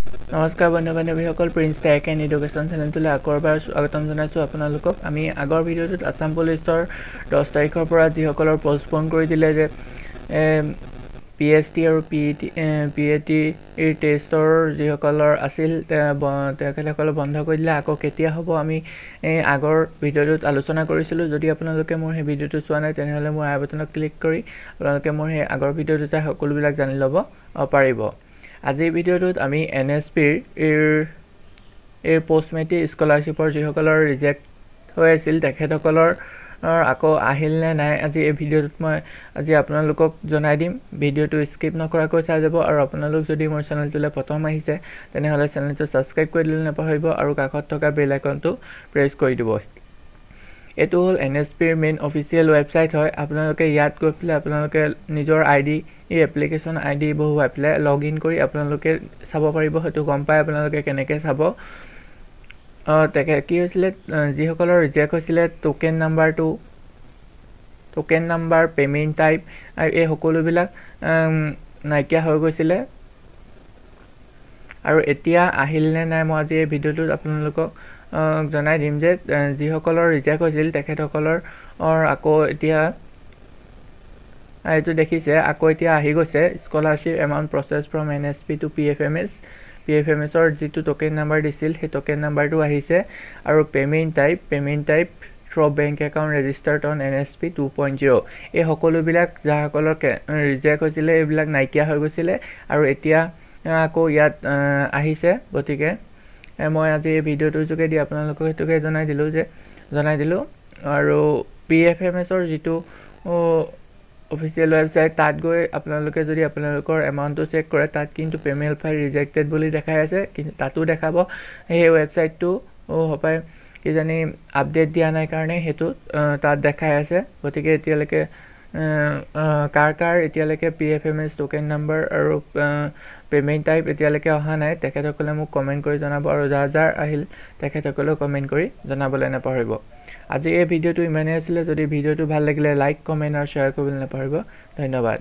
নমস্কাৰ বন্ধু বান্ধৱীসকল, prince tech and education চেনেলটোলৈ আকৌ এবাৰ স্বাগতম জনাইছোঁ আপোনালোকক। আমি আগৰ ভিডিঅ'টোত আছাম পুলিচৰ 10 তাৰিখৰ পৰা যিসকলৰ পষ্টপন কৰি দিলে যে পি এছ টি আৰু P E T, P A টিৰ টেষ্টৰ যিসকলৰ আছিল, তেখেতসকলে বন্ধ কৰি দিলে। আকৌ কেতিয়া হ'ব, আমি এই আগৰ ভিডিঅ'টোত আলোচনা কৰিছিলোঁ। যদি আপোনালোকে মোৰ সেই ভিডিঅ'টো চোৱা নাই, তেনেহ'লে মোৰ আই বটনত ক্লিক কৰি আপোনালোকে মোৰ সেই আগৰ ভিডিঅ'টো চাই সকলোবিলাক জানি ল'ব পাৰিব। আজিৰ ভিডিঅ'টোত আমি এন এছ পিৰ এই পষ্ট মেট্ৰিক স্কলাৰশ্বিপৰ যিসকলৰ ৰিজেক্ট হৈ আছিল, তেখেতসকলৰ আকৌ আহিল নে নাই, আজি এই ভিডিঅ'টোত মই আজি আপোনালোকক জনাই দিম। ভিডিঅ'টো স্কিপ নকৰাকৈ চাই যাব আৰু আপোনালোক যদি মোৰ চেনেলটোলৈ প্ৰথম আহিছে, তেনেহ'লে চেনেলটো ছাবস্ক্ৰাইব কৰি দিবলৈ নাপাহৰিব আৰু কাষত থকা বেল আইকনটো প্ৰেছ কৰি দিব। এইটো হ'ল এন এছ পিৰ মেইন অফিচিয়েল ৱেবছাইট হয়। আপোনালোকে ইয়াত গৈ পেলাই আপোনালোকে নিজৰ আই ডি, এই এপ্লিকেশ্যন আই ডি বহুৱাই পেলাই লগ ইন কৰি আপোনালোকে চাব পাৰিব। সেইটো গম পাই আপোনালোকে কেনেকৈ চাব। তেখেত কি হৈছিলে, যিসকলৰ ৰিজেক্ট হৈছিলে, টোকেন নাম্বাৰটো, টোকেন নাম্বাৰ, পে'মেণ্ট টাইপ, এই সকলোবিলাক নাইকিয়া হৈ গৈছিলে আৰু এতিয়া আহিল নে নাই, মই আজি এই ভিডিঅ'টোত আপোনালোকক জনাই দিম যে যিসকলৰ ৰিজেক্ট হৈছিল, তেখেতসকলৰ আকৌ এতিয়া এইটো দেখিছে, আকৌ এতিয়া আহি গৈছে, scholarship amount process from NSP to PFMS। P F M এছৰ যিটো টোকেন নাম্বাৰ দিছিল, সেই টোকেন নাম্বাৰটো আহিছে আৰু payment type through bank account registered on NSP 2.0। এই সকলোবিলাক যাসকলৰ ৰিজেক্ট হৈছিলে, এইবিলাক নাইকিয়া হৈ গৈছিলে আৰু এতিয়া আকৌ ইয়াত আহিছে। গতিকে মই আজি এই ভিডিঅ'টোৰ যোগেদি আপোনালোকক সেইটোকে জনাই দিলোঁ। আৰু পি এফ এম এছৰ যিটো অফিচিয়েল ৱেবছাইট, তাত গৈ আপোনালোকে যদি আপোনালোকৰ এমাউণ্টটো চেক কৰে, তাত কিন্তু পে'মেণ্ট ফাইল ৰিজেক্টেড বুলি দেখাই আছে। কিন্তু তাতো দেখাব, সেই ৱেবছাইটটো হপাই কিজানি আপডেট দিয়া নাই কাৰণে সেইটো তাত দেখাই আছে। গতিকে এতিয়ালৈকে কাৰ কাৰ এতিয়ালৈকে P F M S token number আৰু পে'মেণ্ট টাইপ এতিয়ালৈকে অহা নাই, তেখেতসকলে মোক কমেণ্ট কৰি জনাব আৰু যাৰ যাৰ আহিল, তেখেতসকলেও কমেণ্ট কৰি জনাবলৈ নাপাহৰিব। আজি এই ভিডিঅ'টো ইমানেই আছিলে। যদি ভিডিঅ'টো ভাল লাগিলে, লাইক, কমেণ্ট আৰু শ্বেয়াৰ কৰিবলৈ নাপাহৰিব। ধন্যবাদ।